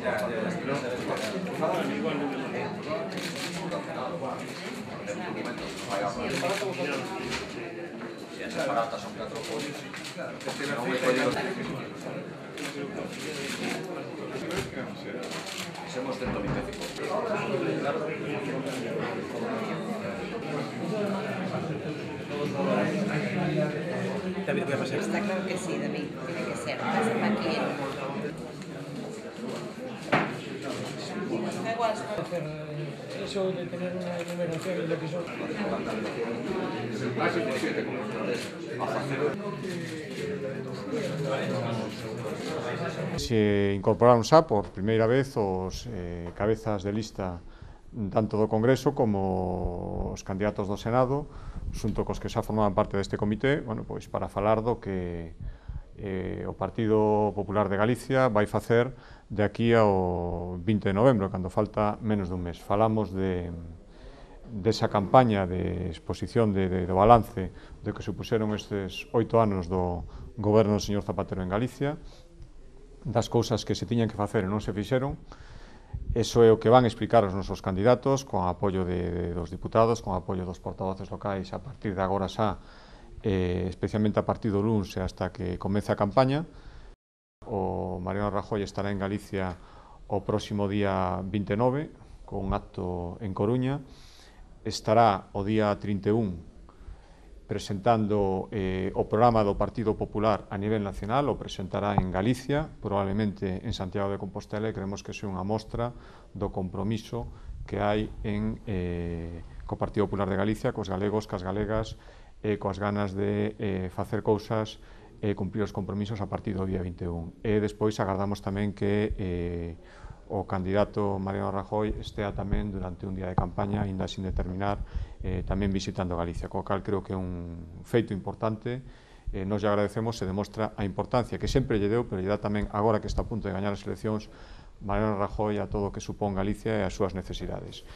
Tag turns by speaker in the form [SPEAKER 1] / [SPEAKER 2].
[SPEAKER 1] Si esas patatas son 4 pollos, no muy pollos. Somos 125.
[SPEAKER 2] David, ¿qué pasa?
[SPEAKER 3] Está claro que sí, David, tiene que ser. Pásame aquí.
[SPEAKER 2] Eso de tener una enumeración de lo que son.
[SPEAKER 4] Se incorporaron xa por primeira vez os cabezas de lista tanto do Congreso como os candidatos do Senado, xunto cos que xa formaban parte deste comité, bueno, pois para falar do que o Partido Popular de Galicia vai facer de aquí ao 20 de novembro, cando falta menos dun mes. Falamos desa campaña de exposición do balance de que supuxeron estes 8 anos do goberno do señor Zapatero en Galicia, das cousas que se tiñan que facer e non se fixeron. Eso é o que van explicar os nosos candidatos, con apoio dos diputados, con apoio dos portavoces locais a partir de agora xa, especialmente a partir do luns e hasta que comece a campaña. O Mariano Rajoy estará en Galicia o próximo día 29, con un acto en Coruña. Estará o día 31 presentando o programa do Partido Popular a nivel nacional, o presentará en Galicia, probablemente en Santiago de Compostela, e creemos que é unha mostra do compromiso que hai co Partido Popular de Galicia, cos galegos, cas galegas, coas ganas de facer cousas e cumprir os compromisos a partir do día 21. E despois agardamos tamén que o candidato Mariano Rajoy estea tamén durante un día de campaña, ainda sin determinar, tamén visitando Galicia, co cal creo que é un feito importante. Nos lle agradecemos, se demostra a importancia que sempre lle deu, pero lle dá tamén, agora que está a punto de gañar as eleccións, Mariano Rajoy a todo o que supón Galicia e as súas necesidades.